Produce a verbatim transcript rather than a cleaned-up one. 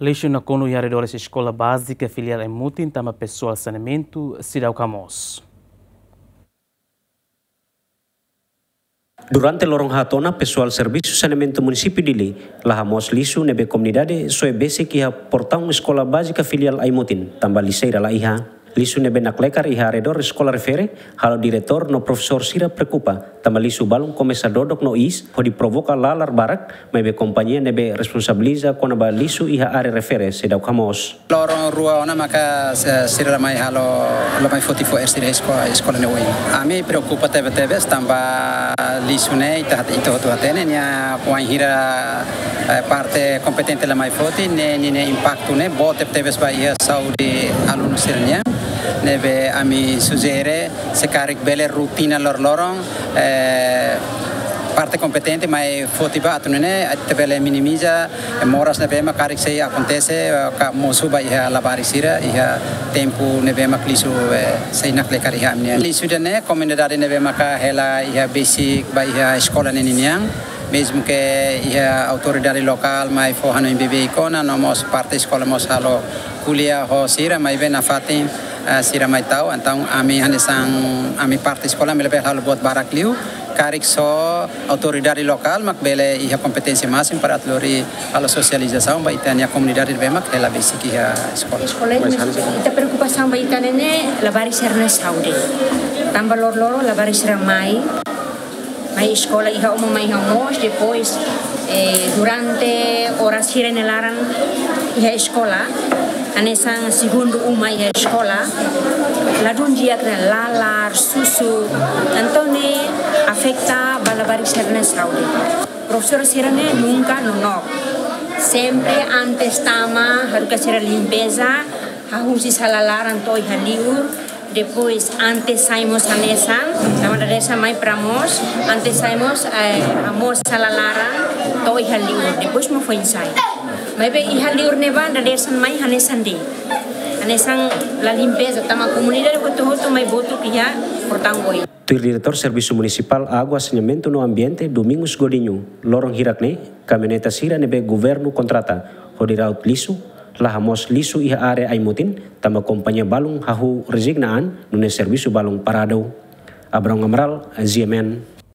Lixu nakonu iha arredores Eskola Bázika Filiál Aimutin tanba pesoál saneamentu seidauk hamoos. Durante loron haat ona, pesoál Servisu Saneamentu Munisípiu Dili la hamoos lixu ne'ebé komunidade soe besik iha portaun Eskola Bázika Filiál Aimutin, tanba lixeira la iha. Lixu ne'ebé naklekar iha arredór eskola refere, halo diretór no profesór sira preokupa, tanba lixu balun komesa dodok no iis, hodi provoka lalar barak, maibé kompañia ne'ebé responsabiliza kona-ba lixu iha área refere seidauk hamoos. Loron rua ona maka se-, sira la mai halo, la mai foti fo'er sira esko-, eskola ne'e oin. Ami preokupa tebe-tebes tanba lixu ne'e ita hat-, ita hotu hatene nia wainhira, eh, parte kompetente la mai foti, ne'e ninia impaktu ne'e boot tebe-tebes ba iha saúde alunu sira-nian. Ne'ebé ami sujere se karik bele rotina loroloron, eh, parte kompetente mai foti ba atu nune'e ita bele minimiza moras ne'ebé mak karik sei akontese, eh, ka mosu ba iha labarik sira, iha tempu ne'ebé mak lixu, eh, sei naklekar iha ami-nian. Lixu ida-ne'e komunidade ne'ebé maka hela iha besik ba iha eskola ne'e ninian. Mezmu ke iha autoridade lokál mai fó hanoin bebeik ona, no mós parte eskola mós halo ko'alia ho sira, maibé nafatin, eh, sira mai ta'uk, entaun ami hanesan, ami parte eskola, ami labele halo buat barak liu, karik só autoridade lokál mak bele iha kompeténsia másimu para atu lori halo sosializasaun ba ita-nia komunidade ne'ebé mak hela besik iha eskola. Eskola, mas ita preokupasaun ba ita-nia ne'e labarik sira-nia saúde. Tanba loroloron labarik sira mai, mai eskola iha uma, mai iha moos, depois, eh, durante oras sira-nia laran iha eskola, hanesan segundu uma iha eskola, ladún di'ak ne'e lalar, susuk, entaun ne'e afeta ba labarik sira-nia saúde. Profesór sira-ne'e nunka nonook. Sempre antes tama, haruka sira limpeza, hahú husi sala laran to'o iha li'ur, depois antes sai mós hanesan, tanba dadeer-saan mai para moos, antes sai mós, eh, hamoos sala laran to'o iha li'ur, depois mak foin sai. Maibé iha li'ur ne'ebá dadeer-saan mai hanesan de'it. Hanesan la limpeza, tanba komunidade hotu-hotu mai botuk iha portaun oin. Tuir Diretór Servisu Munisipál Água, Saneamentu no Ambiente, Domingos Godinho, loron hirak ne'e, kamioneta sira ne'ebé governu kontrata hodi ra'ut lixu, la hamoos lixu iha área Aimutin, tanba kompañia balun hahú rezigna an, nune'e servisu balun paradu. Abrão Amaral, G M N,